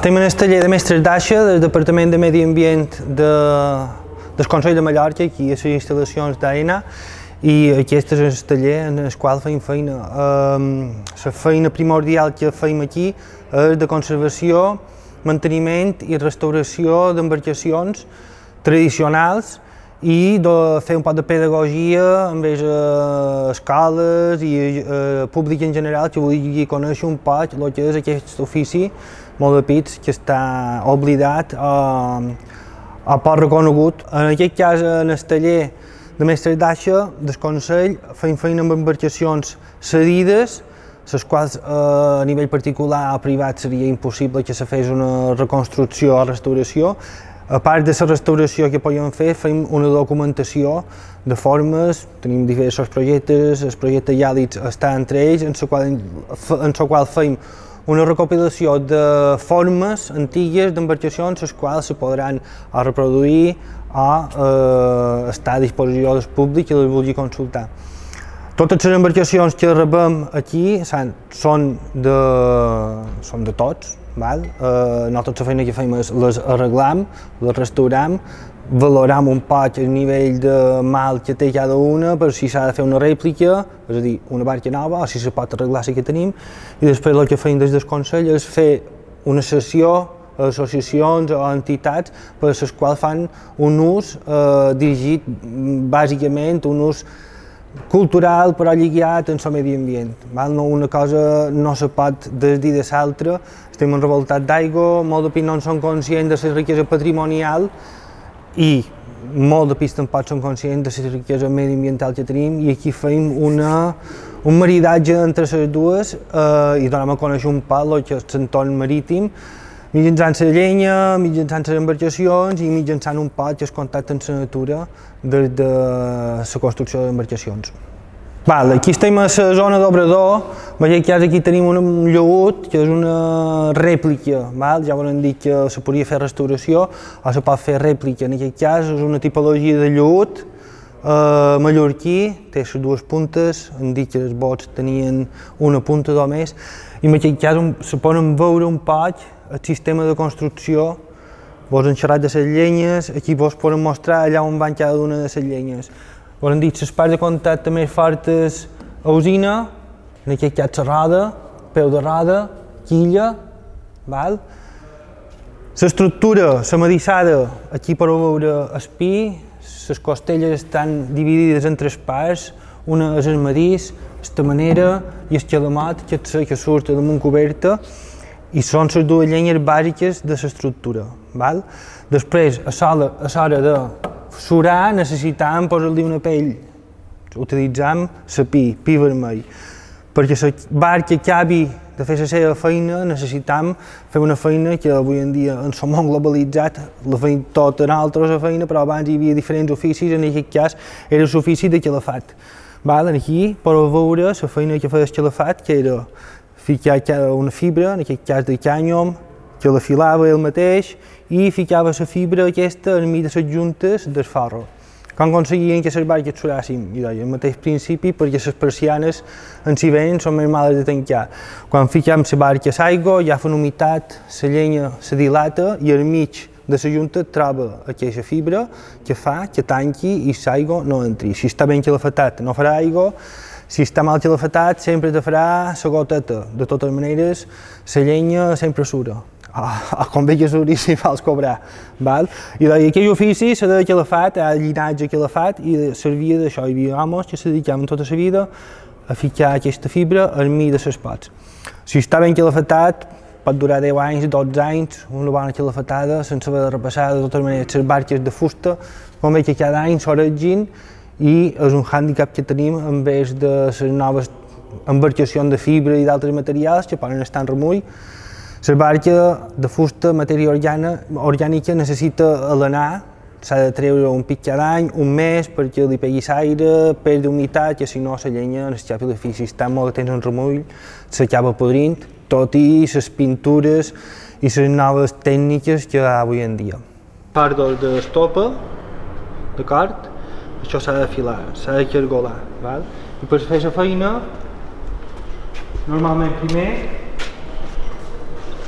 Estem en el taller de mestres d'Aixa del Departament de Medi Ambient del Consell de Mallorca, aquí a les instal·lacions d'AENA, i aquest és el taller en el qual fem feina. La feina primordial que fem aquí és de conservació, manteniment i restauració d'embarcacions tradicionals i de fer un poc de pedagogia envers escoles i públic en general que vulgui conèixer un poc el que és aquest ofici molt de pits que està oblidat o poc reconegut. En aquest cas, en el taller de mestres d'Aixa del Consell fem feina amb embarcacions cedides, les quals a nivell particular o privat seria impossible que se fes una reconstrucció o restauració. A part de la restauració que podem fer, fem una documentació de formes, tenim diversos projectes, el projecte Yàlits està entre ells, en el qual fem una recopilació de formes antigues d'embarcacions, les quals se podran reproduir o estar a disposició del públic que les vulgui consultar. Totes les embarcacions que rebem aquí són de tots. Nosaltres la feina que fem és les arreglam, les restaurem, valorem un poc el nivell de mal que té cada una per si s'ha de fer una rèplica, és a dir, una barca nova, o si se pot arreglar la que tenim, i després el que fem des del Consell és fer una sessió a associacions o entitats per les quals fan un ús dirigit bàsicament, un ús cultural però lligat en el medi ambient. Una cosa no se pot desdir de l'altra, estem enrevoltats d'aigua, molts de pits no són conscients de la riquesa patrimonial i molts de pits tampoc són conscients de la riquesa mediambiental que tenim, i aquí fem un maridatge entre les dues i donem a conèixer un poc el que és l'entorn marítim mitjançant la llenya, mitjançant les embarcacions i mitjançant un poc el contacte amb la natura des de la construcció d'embarcacions. Aquí estem a la zona d'Obrador, aquí tenim un llaüt que és una rèplica, ja volen dir que se podria fer restauració o se pot fer rèplica, en aquest cas és una tipologia de llaüt mallorquí, té les dues puntes, han dit que els bots tenien una punta només, i en aquest cas se poden veure un poc el sistema de construcció. Vos han xerrat de les llenyes, aquí vos poden mostrar allà on van cada una de les llenyes. Vos han dit les parts de contacte més fortes a usina, en aquest cas la roda, peu de roda, quilla. L'estructura, la medissada, aquí podeu veure el pi, les costelles estan dividides en tres parts, una és el medís, la manera i el calamot, que surt damunt coberta, i són les dues llenyes bàsiques de l'estructura. Després, a l'hora de surar, necessitam posar-li una pell. Utilitzam la pi vermell. Perquè la barca acabi de fer la seva feina, necessitam fer una feina que avui en dia, en el món globalitzat, la fem tota nosaltres la feina, però abans hi havia diferents oficis, en aquest cas era l'ofici de calafat. Aquí podeu veure la feina que feia el calafat, que era ficar una fibra, en aquest cas de cànyom, que la filava ell mateix i ficava la fibra aquesta enmig de les juntes del forro. Com aconseguien que les barques surassin? El mateix principi, perquè les persianes en hivern són més males de tancar. Quan fiquem la barca a l'aigua, ja fan humitat, la llenya se dilata i al mig de la junta troba aquesta fibra que fa que tanqui i l'aigua no entri. Si està ben calafatat no farà aigua, si està mal calafatat sempre te farà la goteta. De totes maneres, la llenya sempre sura. Convé que suri si vols cobrar. I aquell ofici se deia calafat, el llinatge calafat, i servia d'això. Hi havia homes que se dedicaven tota la vida a ficar aquesta fibra al mig de les pots. Si està ben calafatat, pot durar 10 anys, 12 anys, una bona calafetada, sense haver de repassar de totes maneres les barques de fusta, com veig que cada any s'oregin i és un hàndicap que tenim en vez de les noves embarcacions de fibra i d'altres materials que poden estar en remull. La barca de fusta, matèria orgànica, necessita alenar, s'ha de treure un pic cada any, un mes, perquè li pegui l'aire, perd humitat, que si no la llenya, el xapi d'ofici, si està molt de temps en remull, s'acaba podrint, tot i les pintures i les noves tècniques que hi ha avui en dia. Part d'estopa, d'acord? Això s'ha d'afilar, s'ha de cargolar, val? I per fer la feina, normalment primer,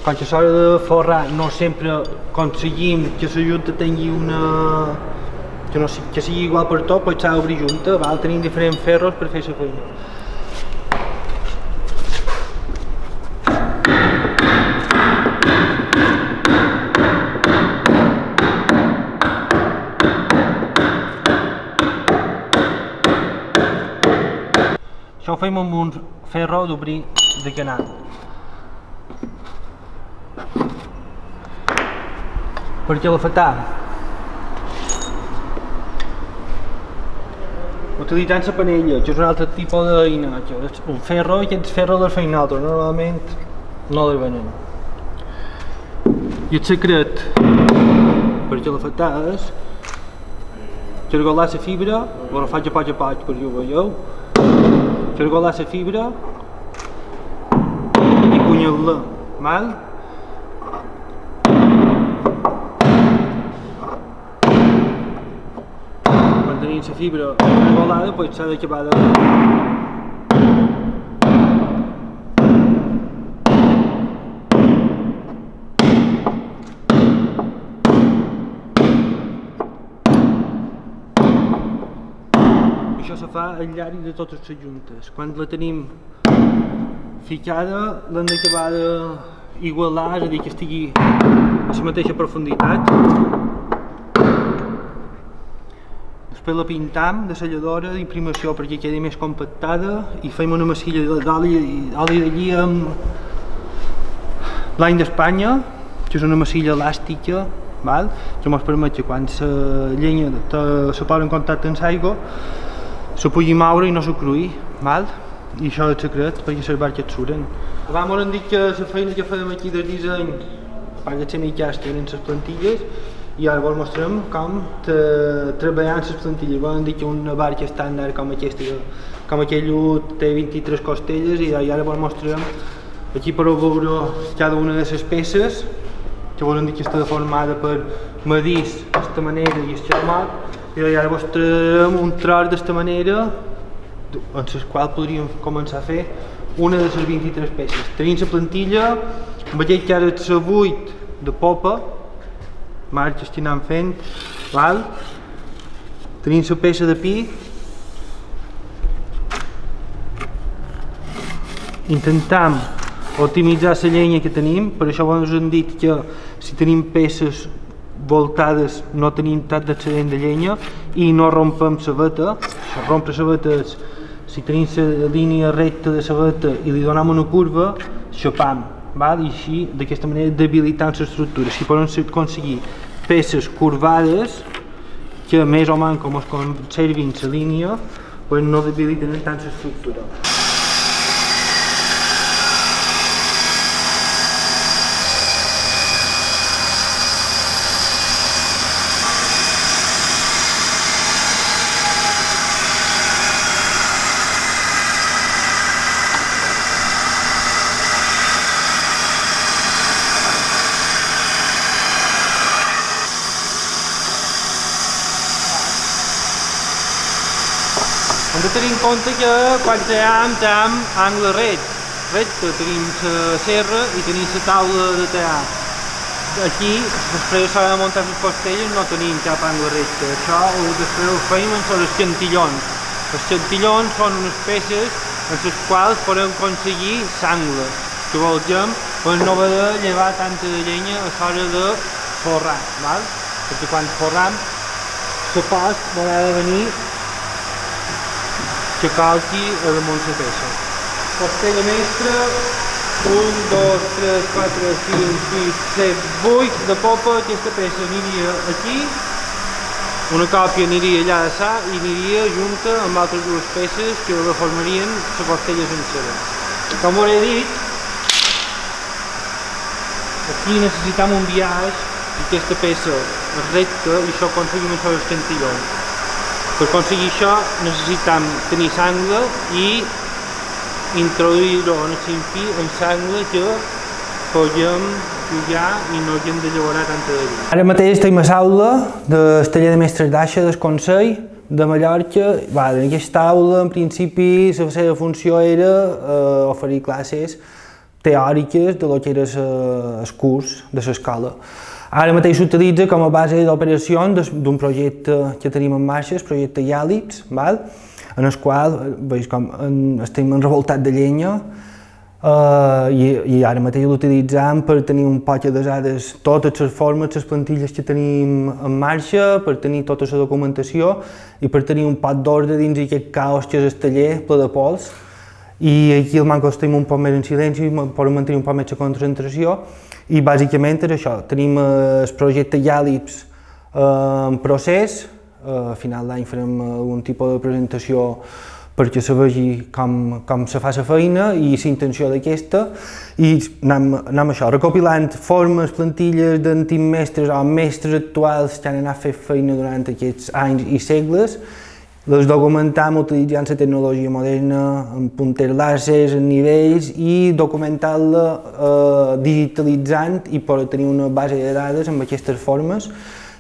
quan s'ha de forrar, no sempre aconseguim que la junta tingui una... que sigui igual per tot, però s'ha d'obrir junta, val? Tenim diferents ferros per fer la feina. Això ho fem amb un ferro d'obrir de canal. Per calafetar, utilitzant la panella, que és un altre tipus d'eina, un ferro, i aquest ferro del feien altres, normalment no el venen. I el secret per calafetar és cargolar la fibra, ho faig a poc perquè ho veieu, cargolar la fibra i cunyar-la, val? Quan tenim la fibra cargolada, doncs s'ha d'acabar de... Això se fa al llarg de totes les juntes. Quan la tenim ficada, l'hem d'acabar d'igualar, és a dir, que estigui a la mateixa profunditat. Després la pintam de selladora d'imprimació perquè quedi més compactada i fem una massilla d'oli d'allí amb blanc d'Espanya, que és una massilla elàstica, que ens permet que quan la llenya se posa en contacte amb l'aigua se pugui moure i no se cruï, i això és el secret perquè les barques suren. Abans ens han dit que la feina que fèiem aquí del disseny, a part de ser mitjans, eren les plantilles, i ara vos mostrem com treballant les plantilles. Vos han dit que una barca estàndard com aquesta, com aquell ut, té 23 costelles, i ara vos mostrem, aquí podeu veure cada una de les peces, que vos han dit que està formada per madís, d'aquesta manera, i esxamat, i ara vos traiem un tros d'aquesta manera en la qual podríem començar a fer una de les 23 peces. Tenim la plantilla, amb aquell que ara és la 8 de popa, que estic anant fent, tenim la peça de pi, intentam optimitzar la llenya que tenim, per això ens han dit que si tenim peces voltades no tenim tant d'excedent de llenya i no rompem la veta. Rompre la veta és, si tenim la línia recta de la veta i li donem una curva, xapam, i així d'aquesta manera debilitant l'estructura. Si podem aconseguir peces curvades que més o menys com es conservin la línia, no debiliten tant l'estructura. Hem de tenir en compte que quan tallem angle recte, tenim la serra i tenim la taula de tallar. Aquí, després s'ha de muntar les costelles, no tenim cap angle recte. Això després ho fem amb els xantillons. Els xantillons són unes peces en les quals podem aconseguir l'angle que vulguem per no haver de llevar tanta llenya a l'hora de forrar, perquè quan forram la post haurà de venir que calqui a damunt la peça. Costella mestra 1, 2, 3, 4, 5, 6, 7, 8 de popa. Aquesta peça aniria aquí, una còpia aniria allà de ça i aniria junta amb altres dues peces que reformarien la costella sencera. Com us he dit, aquí necessitem un biaix i aquesta peça és recta i això aconseguim això dels cantillons. Per aconseguir això necessitem tenir sangle i introduir-ho en el ximpi amb sangle que podem pujar i no hem de llaurar tanta de vi. Ara mateix estem a l'aula del taller de mestres d'Aixa del Consell de Mallorca. En aquesta aula, en principi, la seva funció era oferir classes teòriques de lo que era el curs de l'escola. Ara mateix s'utilitza com a base d'operacions d'un projecte que tenim en marxa, el projecte Iàlips, en el qual veus com estem enrevoltats de llenya i ara mateix l'utilitzem per tenir un poc de dades totes les formes, les plantilles que tenim en marxa, per tenir tota la documentació i per tenir un poc d'ordre dins aquest caos que és el taller ple de pols. I aquí al manco estem un poc més en silenci i podem mantenir un poc més la concentració. I bàsicament és això, tenim el projecte Iàlips en procés, a final d'any farem algun tipus de presentació perquè se vegi com se fa la feina i la intenció d'aquesta i anem això, recopilant formes, plantilles d'antics mestres o mestres actuals que han anat fent feina durant aquests anys i segles, les documentam utilitzant la tecnologia moderna, amb punters làsers, en nivells i documentant-la digitalitzant i per tenir una base de dades amb aquestes formes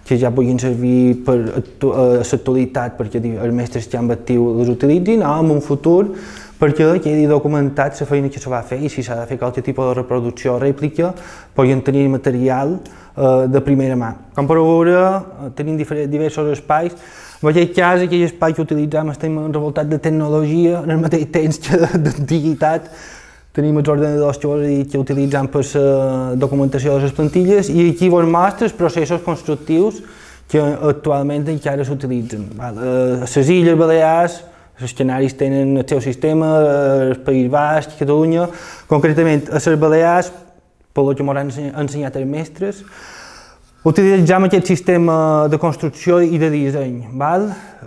que ja puguin servir per l'actualitat perquè els mestres que han actiu les utilitzin o en un futur perquè quedi documentat la feina que se va fer i si s'ha de fer qualsevol tipus de reproducció o rèplica puguin tenir material de primera mà. Com podeu veure, tenim diversos espais. En aquest cas, aquell espai que utilitzem estem enrevoltats de tecnologia, en el mateix temps que d'antiguitat. Tenim els ordenadors que utilitzem per la documentació de les plantilles i aquí vos mostra els processos constructius que actualment encara s'utilitzen. Les Illes Balears, els Canaris tenen el seu sistema, el País Basc, Catalunya, concretament a les Balears, pel que m'han ensenyat els mestres, utilitzem aquest sistema de construcció i de disseny.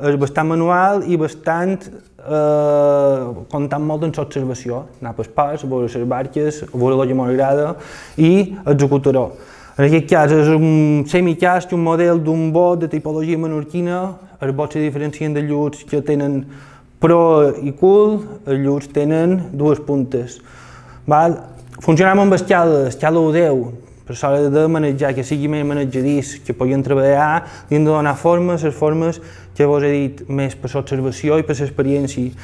És bastant manual i bastant comptant molt en l'observació. Anar pels ports, veure les barques, veure el que m'agrada i executar-ho. En aquest cas és un semicast, un model d'un bot de tipologia menorquina. Els bots se diferencien de lluts que tenen pro i cul, els lluts tenen dues puntes. Funcionem amb escala 10, per l'hora de manejar, que sigui més manejadís, que puguin treballar, li hem de donar formes, les formes que vos he dit més per l'observació i per l'experiència.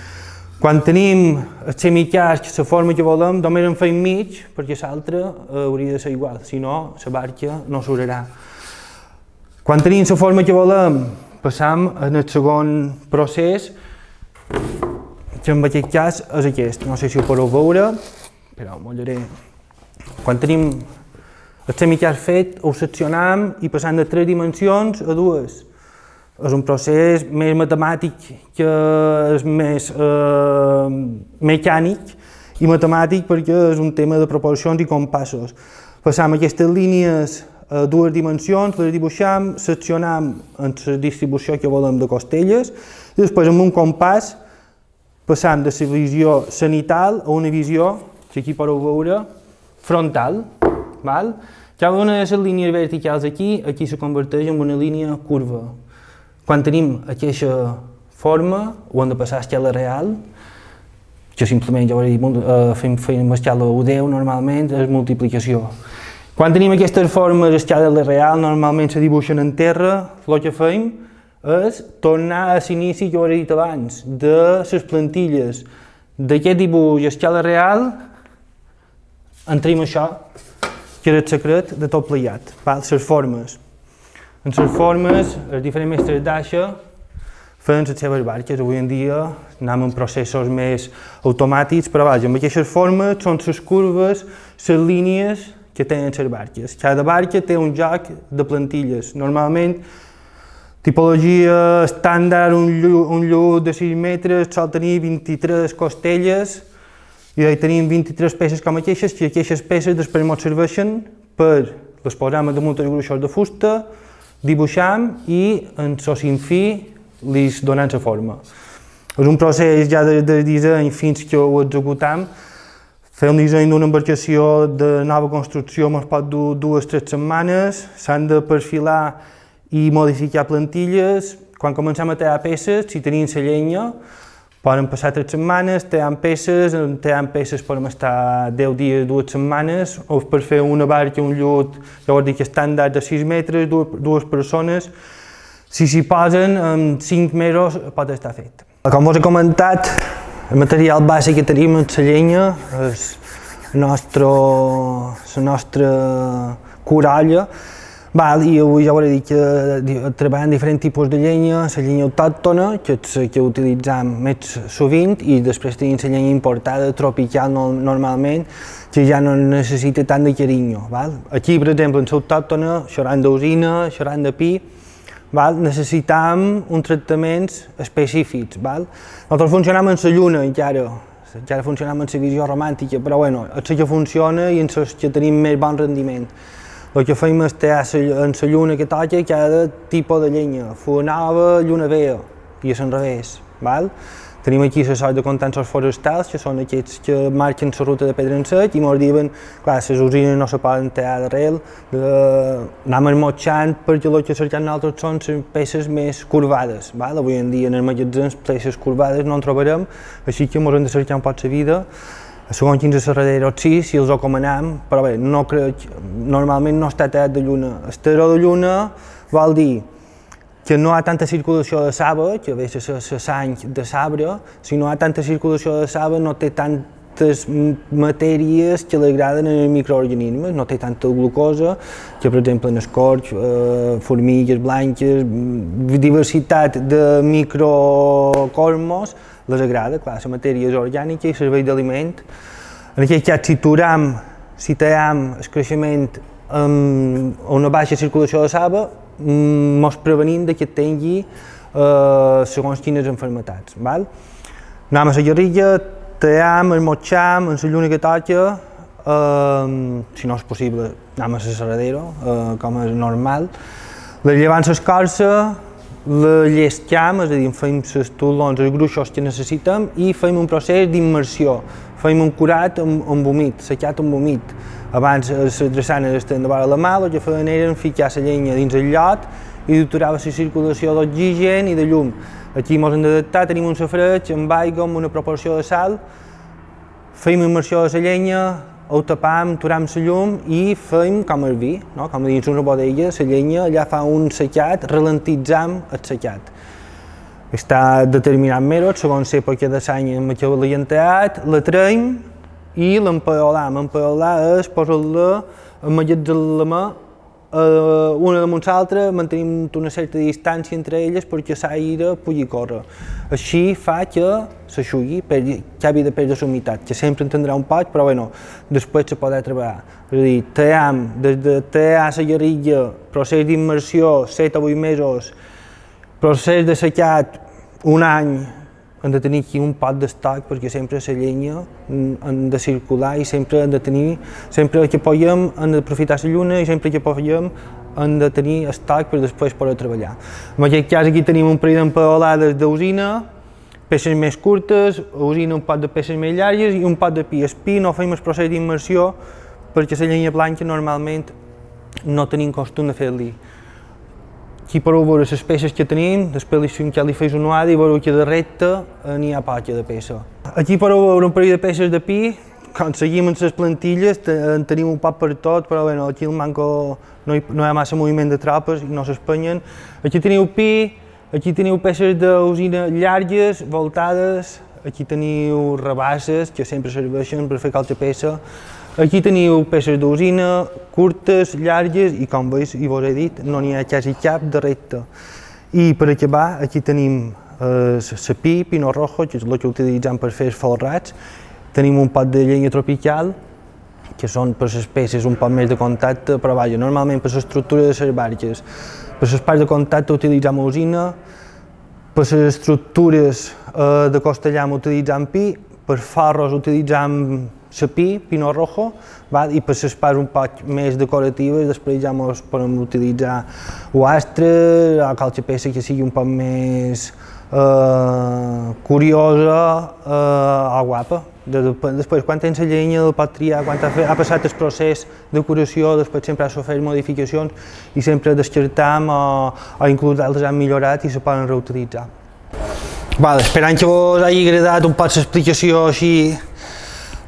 Quan tenim el semicasc, la forma que volem, només en fem mig, perquè l'altra hauria de ser igual, si no, la barca no s'urarà. Quan tenim la forma que volem, passam en el segon procés, que en aquest cas és aquest. No sé si ho podeu veure, però m'ho diré. Quan tenim el semicast fet, ho seccionam i passant de 3 dimensions a 2. És un procés més matemàtic que és més mecànic i matemàtic perquè és un tema de proporcions i compassos. Passam aquestes línies a 2 dimensions, les dibuixam, seccionam en la distribució que volem de costelles i després amb un compàs passam de la visió cenital a una visió, que aquí podeu veure, frontal. Cada una de les línies verticals aquí se converteix en una línia curva. Quan tenim aquesta forma, ho hem de passar a escala real, que simplement, ja ho he dit, fem a escala 10 normalment, és multiplicació. Quan tenim aquestes formes a escala real, normalment se dibuixen en terra, el que fem és tornar a l'inici que ho he dit abans, de les plantilles d'aquest dibuix a escala real, entrem això, que és el secret de tot plegat, les formes. En les formes, els diferents mestres d'Aixa feien les seves barques. Avui en dia anem en processos més automàtics, però vaja, amb aquestes formes són les curves, les línies que tenen les barques. Cada barca té un joc de plantilles. Normalment, tipologia estàndard, un llut de 6 metres sol tenir 23 costelles I tenim 23 peces com aquestes, i aquestes peces després ens serveixen per les posam damunt els gruixos de fusta, dibuixam i en socin fi li donem la forma. És un procés ja de disseny fins que ho executam. Fer un disseny d'una embarcació de nova construcció ens pot dur 2 o 3 setmanes, s'han de perfilar i modificar plantilles. Quan comencem a tallar peces, si tenim la llenya, poden passar 3 setmanes, tallant peces podem estar 10 dies, 2 setmanes, o per fer una barca, un llut, llavors dic estàndard de 6 metres, 2 persones, si s'hi posen, en 5 mesos pot estar fet. Com us he comentat, el material bàsic que tenim en la llenya és la nostra coralla, i avui ja us he dit que treballem diferents tipus de llenya, la llenya autòctona, que és la que utilitzem més sovint, i després tenim la llenya importada, tropical normalment, que ja no necessita tant de carinyo. Aquí, per exemple, en l'autòctona, xerrant d'usina, xerrant de pi, necessitem uns tractaments específics. Nosaltres funcionem en la lluna encara funcionem en la visió romàntica, però és la que funciona i en la que tenim més bon rendiment. El que fem és tallar en la lluna que toca cada tipus de llenya, fulla nova, lluna vella, i és al revés. Tenim aquí la sort de contensos forestals, que són aquests que marquen la ruta de pedra en sec i ens diuen que les usines no se poden tallar d'arrel, anem esmotxant perquè el que cerquem nosaltres són les peces més curvades. Avui en dia en els magatzems peces curvades no en trobarem, així que ens hem de cercar un poc la vida. Segons quins serraderos sí, si els recomanem, però bé, normalment no està tallat de lluna. Estaró de lluna vol dir que no hi ha tanta circulació de saba, que ve a ser la sang de sabre. Si no hi ha tanta circulació de saba, no té tantes matèries que li agraden als microorganismes, no té tanta glucosa, que per exemple en escorç, formigues blanques, diversitat de microcosmos les agrada, clar, la matèria és orgànica i serveix d'aliment. En aquest cas, si tallem el creixement a una baixa circulació de saba, ens prevenim que tingui segons quines malalties. Anem a la guerrilla, tallem, esmotxam, en la lluna que toca, si no és possible, anem a la serradero, com és normal. Llevant l'escorça, la llescam, és a dir, fem els tolons, els gruixos que necessitem i fem un procés d'immersió. Fem un curat amb vomit, secat amb vomit. Abans les drassanes estaven de vora la mà, el que feien era ficar la llenya dins el llot i aturava la circulació d'oxigen i de llum. Aquí ens hem d'adaptar, tenim un safareig amb aigua, amb una proporció de sal, fem immersió de la llenya, ho tapam, aturem la llum i fem com el vi, com dins una bodega, la llenya allà fa un secat, ralentitzam el secat. Està determinat mesos, segons l'època de l'any en què l'hem tallat, la traiem i l'empaolam. Empaolar és posar-la emmagatzemar una damunt l'altra, mantenim una certa distància entre elles perquè l'aire pugui córrer. Així fa que s'aixugui, que acabi de perdre la humitat, que sempre en tindrà un poc, però bé, després se podrà treballar. És a dir, tallam, des de tallar la guerrilla, procés d'immersió, 7 o 8 mesos, procés de secat, un any, hem de tenir aquí un pot d'estoc perquè sempre la llenya hem de circular i sempre hem de tenir, sempre que puguem hem d'aprofitar la lluna i sempre que puguem hem de tenir estoc per després poder treballar. En aquest cas aquí tenim un parell d'empaolades d'usina, peces més curtes, usina un pot de peces més llargues i un pot de pi. El pi no fem el procés d'immersió perquè la llenya blanca normalment no tenim costum de fer-li. Aquí podeu veure les peces que tenim, després li fes una uada i veureu que de recte n'hi ha poca de peça. Aquí podeu veure un parell de peces de pi, quan seguim amb les plantilles en tenim un poc per tot, però aquí el manco no hi ha massa moviment de tropes i no s'espenyen. Aquí teniu pi, aquí teniu peces d'usina llargues, voltades, aquí teniu rebasses que sempre serveixen per fer qualsevol peça. Aquí teniu peces d'usina, curtes, llargues i com veus i vos he dit, no n'hi ha quasi cap de recte. I per acabar, aquí tenim la pi, pino rojo, que és el que utilitzem per fer els folrats. Tenim un pot de llenya tropical, que són per les peces un poc més de contacte, però vaja, normalment per l'estructura de les barques. Per les parts de contacte utilitzem usina, per les estructures de costellam utilitzem pi, per forros utilitzam sapí, pinot rojo, i per les parts un poc més decoratives després ja ens podem utilitzar o astre, o qualque peça que sigui un poc més curiosa o guapa. Després, quan tens la llenya, el pots triar, quan ha passat el procés de curació, després sempre has de fer modificacions i sempre descartam o inclús altres han millorat i se poden reutilitzar. Esperant que us hagi agradat un poc l'explicació així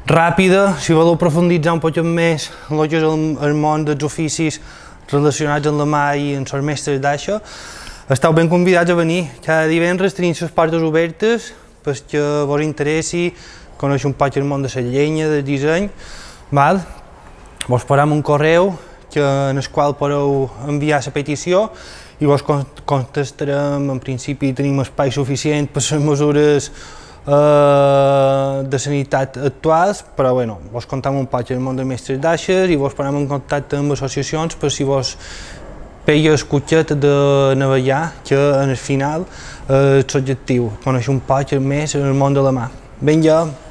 ràpida, si voleu profunditzar un poc més en el que és el món dels oficis relacionats amb la mà i amb els mestres d'això, esteu ben convidats a venir. Cada divendres tenim les portes obertes perquè vos interessi conèixer un poc el món de la llenya, del disseny. Vos posarem un correu en el qual podeu enviar la petició i vos contestarem. En principi tenim espai suficient per les mesures de sanitat actuals, però vos contem un poc el món de mestres d'aixes i vos posarem en contacte amb associacions per si vos pega el cotxet de navegar, que en el final és l'objectiu, conèixer un poc més el món de la mà. Vinga!